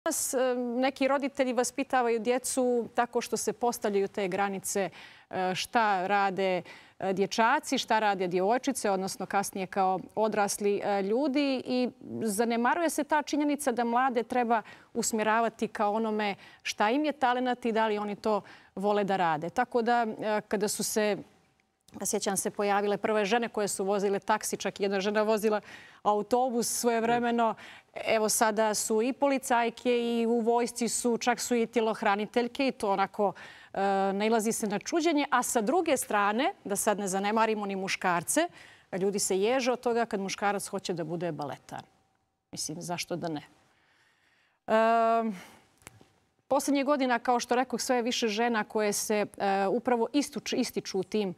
danas neki roditelji vaspitavaju djecu tako što se postavljaju te granice šta rade dječaci, šta rade djevojčice, odnosno kasnije kao odrasli ljudi i zanemaruje se ta činjenica da mlade treba usmjeravati kao onome šta im je talenat i da li oni to vole da rade. Tako da kada su se, sjećam se, pojavile prve žene koje su vozile taksi, čak i jedna žena vozila autobus svojevremeno. Evo sada su i policajke i u vojsci su, čak su i tjelohraniteljke i to onako nailazi se na čuđenje. A sa druge strane, da sad ne zanemarimo ni muškarce, ljudi se ježe od toga kad muškarac hoće da bude baletar. Mislim, zašto da ne? Posljednjih godina, kao što rekoh, sve je više žena koje se upravo ističu u tim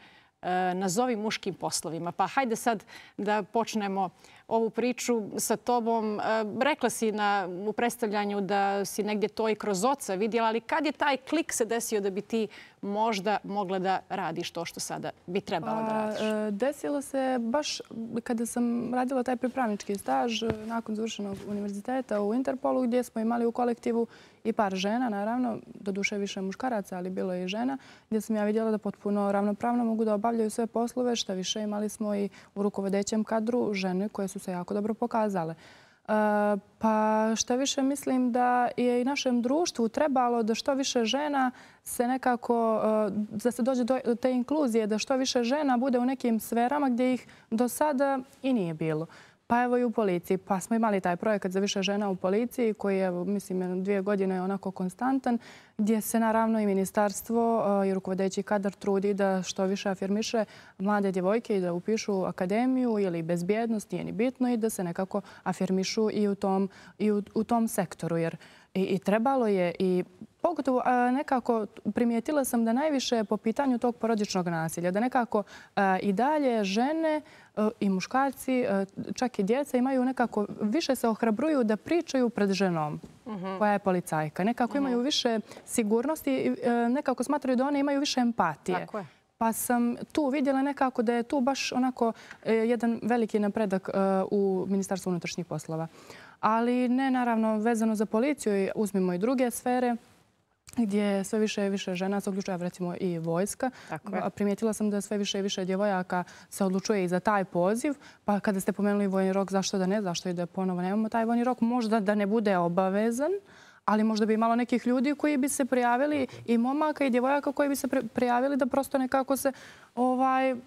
nazovi muškim poslovima. Pa hajde sad da počnemo ovu priču sa tobom. Rekla si u predstavljanju da si negdje to i kroz oca vidjela, ali kad je taj klik se desio da bi ti možda mogla da radiš to što sada bi trebala da radiš? Desilo se baš kada sam radila taj pripravnički staž nakon završenog univerziteta u Interpolu, gdje smo imali u kolektivu i par žena, naravno, doduše više muškaraca, ali bilo je i žena, gdje sam ja vidjela da potpuno ravnopravno mogu da obavljaju sve poslove. Šta više, imali smo i u rukovodećem kadru žene koje su se jako dobro pokazale. Pa šta više, mislim da je i našem društvu trebalo da što više žena se nekako, da se dođe do te inkluzije, da što više žena bude u nekim sferama gdje ih do sada i nije bilo. Pa evo i u policiji. Pa smo imali taj projekat za više žena u policiji koji je, mislim, 2 godine je onako konstantan, gdje se naravno i ministarstvo i rukovodeći kadar trudi da što više afirmiše mlade djevojke i da upišu akademiju ili bezbjednost, nije ni bitno, i da se nekako afirmišu i u tom sektoru. Jer i trebalo je, i pogotovo nekako primijetila sam da najviše po pitanju tog porodičnog nasilja, da nekako i dalje žene i muškarci, čak i djeca, imaju nekako, više se ohrabruju da pričaju pred ženom koja je policajka. Nekako imaju više sigurnosti i nekako smatraju da one imaju više empatije. Tako je. Pa sam tu vidjela nekako da je tu baš onako jedan veliki napredak u Ministarstvu unutrašnjih poslova. Ali ne, naravno, vezano za policiju, uzmimo i druge sfere gdje sve više i više žena se uključuje, recimo i vojska. Primijetila sam da sve više i više djevojaka se odlučuje i za taj poziv. Pa kada ste pomenuli vojni rok, zašto da ne, zašto i da ponovo nemamo taj vojni rok, možda da ne bude obavezan, ali možda bi imalo nekih ljudi koji bi se prijavili, i momaka i djevojaka koji bi se prijavili da prosto nekako se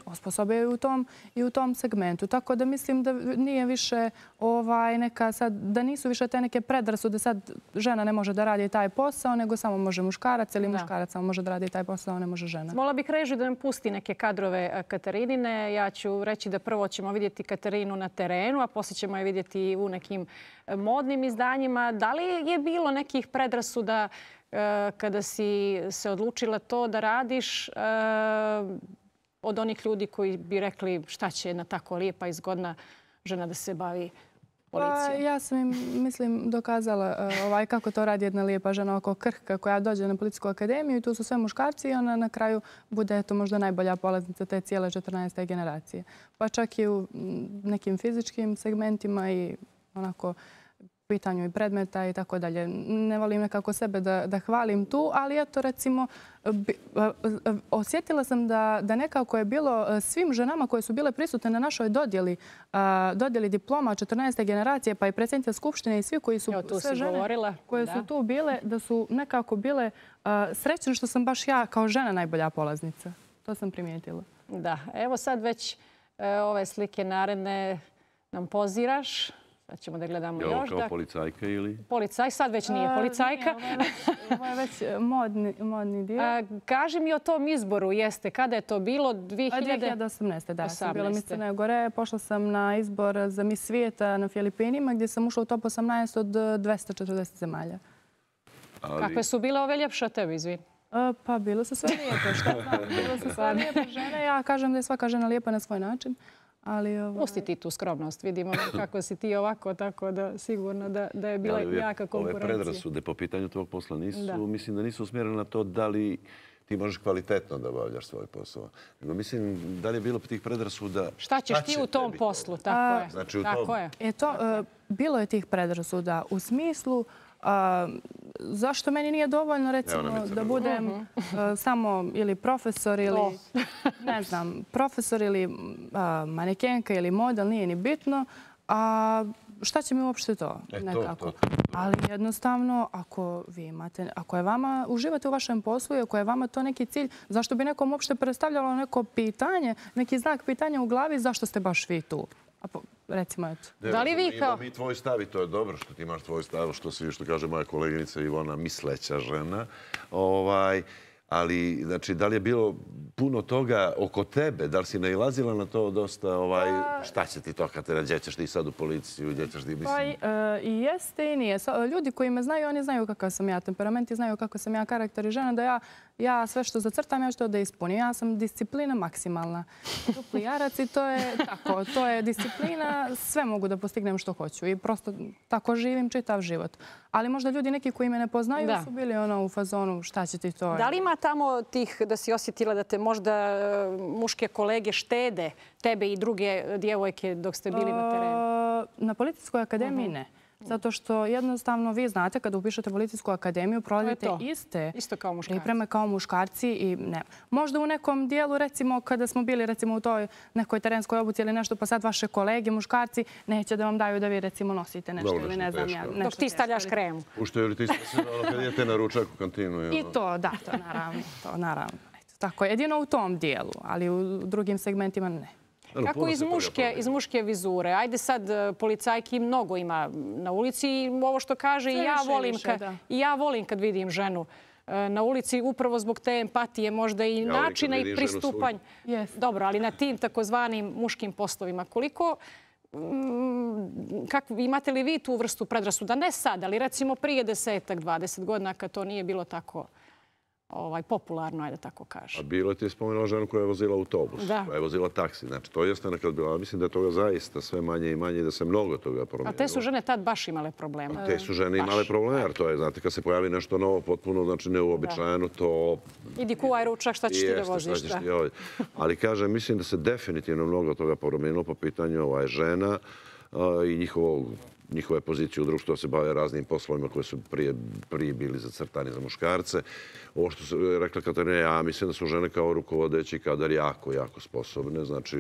osposobe i u tom segmentu. Tako da mislim da nije više neka sad, da nisu više te neke predrasude sad žena ne može da radi taj posao, nego samo može muškarac, ili muškarac samo može da radi taj posao, ne može žena. Mola bih režiju da nam pusti neke kadrove Katarinine. Ja ću reći da prvo ćemo vidjeti Katarinu na terenu, a poslije ćemo je vidjeti u nekim modnim izdanjima. Da li je bilo nekih predrasuda kada si se odlučila to da radiš od onih ljudi koji bi rekli šta će jedna tako lijepa i zgodna žena da se bavi policijom? Ja sam im, mislim, dokazala kako to radi jedna lijepa žena oko krhka koja dođe na policijsku akademiju i tu su sve muškarci i ona na kraju bude možda najbolja polaznica te cijele 14. generacije. Pa čak i u nekim fizičkim segmentima i onako pitanju i predmeta i tako dalje. Ne volim nekako sebe da hvalim tu, ali eto, recimo, osjetila sam da nekako je bilo svim ženama koje su bile prisutne na našoj dodjeli diploma 14. generacije, pa i predsjednica Skupštine i svi koji su, sve žene koje su tu bile, da su nekako bile srećne što sam baš ja kao žena najbolja polaznica. To sam primijetila. Da, evo sad već ove slike naredne nam poziraš. Sad ćemo da gledamo još. Je ovo kao policajka ili? Policaj, sad već nije policajka. Ovo je već modni dio. Kaži mi o tom izboru, jeste. Kada je to bilo? 2018. Da, sam bila Miss Crne Gore. Pošla sam na izbor za Miss Svijeta na Filipinima, gdje sam ušla u top 18 od 240 zemalja. Kakve su bile ove ljepše od tebe, izvini? Pa bilo su sve lijepe, šta znam. Bilo su sve lijepe žene. Ja kažem da je svaka žena lijepa na svoj način. Pusti ti tu skromnost. Vidimo kako si ti ovako, tako da sigurno da je bila jaka konkurencija. Ove predrasude po pitanju tvojeg posla mislim da nisu usmjerene na to da li ti možeš kvalitetno da obavljaš svoj posao. Nego mislim, da li je bilo tih predrasuda? Šta ćeš ti u tom poslu? Tako je. Znači u tom? Bilo je tih predrasuda u smislu Zašto meni nije dovoljno, recimo, da budem samo ili profesor ili, ne znam, profesor ili manekenka ili model, nije ni bitno. A šta će mi uopšte to? Nekako. Ali jednostavno, ako vi imate, ako je vama, uživate u vašem poslu i ako je vama to neki cilj, zašto bi nekom uopšte predstavljalo neko pitanje, neki znak pitanja u glavi, zašto ste baš vi tu? Recimo, eto. Da li vi kao... Mi tvoj stav i to je dobro što ti imaš tvoj stav, što kaže moja koleginica Ivona, misleća žena. Ali, znači, da li je bilo puno toga oko tebe? Da li si nailazila na to dosta, šta će ti to kad te gdje ćeš ti sad u policiju, gdje ćeš ti, mislim? I jeste i nije. Ljudi koji me znaju, oni znaju kakav sam ja temperament i znaju kako sam ja karakter i žena, da ja sve što zacrtam, ja što da ispunim. Ja sam disciplina maksimalna. Dupli jarac i to je tako. To je disciplina, sve mogu da postignem što hoću i prosto tako živim čitav život. Ali možda ljudi neki koji me ne poznaju su bili u fazonu šta će ti to. Da li ima tamo tih da si osjetila da te možda muške kolege štede, tebe i druge djevojke dok ste bili na terenu? Na Policijskoj akademiji ne. Zato što jednostavno vi znate kada upišete Policijsku akademiju prolazite isto kao muškarci. Pripreme kao muškarci i ne. Možda u nekom dijelu, recimo kada smo bili recimo u toj nekoj terenskoj obuci ili nešto, pa sad vaše kolege muškarci neće da vam daju da vi recimo nosite nešto ili ne znam ja. Dok ti stavljaš kremu. Puštaju li ti se kad idete na ručak u kantinu? I to, da, to naravno. Tako, jedino u tom dijelu, ali u drugim segmentima ne. Kako iz muške vizure? Ajde sad, policajki mnogo ima na ulici i ovo što kaže i ja volim kad vidim ženu na ulici upravo zbog te empatije, možda i načina i pristupanja. Dobro, ali na tim takozvanim muškim poslovima. Koliko imate li vi tu vrstu predrasuda? Ne sad, ali recimo prije 10-20 godina kad to nije bilo tako popularno, ajde tako kažem. A bilo je ti spomenula ženu koja je vozila autobus, koja je vozila taksi. Znači, to jeste nekad bilo. Mislim da je toga zaista sve manje i manje i da se mnogo toga promijenilo. A te su žene tad baš imale problema. Te su žene imale problema, jer to je, znate, kad se pojavi nešto novo, potpuno, znači, neuobičajeno, to... Idi kuvaj ručak, šta ćeš ti da voziš? Ali, kažem, mislim da se definitivno mnogo toga promijenilo po pitanju žena i njihove pozicije u društvu, da se bave raznim poslovima koje su prije bili zacrtani za muškarce. Ovo što se rekla Katarina, ja mislim da su žene kao rukovodeći kadar jako, jako sposobne. Znači,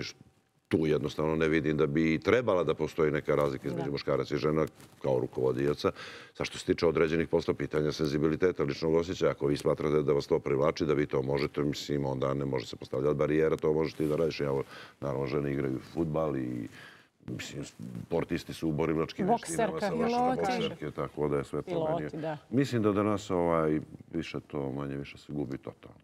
tu jednostavno ne vidim da bi trebala da postoji neka razlika između muškaraca i žena kao rukovodioca. Sa što se tiče određenih posla, pitanja senzibiliteta, ličnog osjećaja, ako vi smatrate da vas to privlači, da vi to možete, mislim, onda ne može se postavljati barijera, to možete i da radiš. Naravno, žene igraju fudbal i sportisti su u borilačkim vještinama sa vašom bokserke, tako da je sve to meni. Mislim da danas više to manje više se gubi totalno.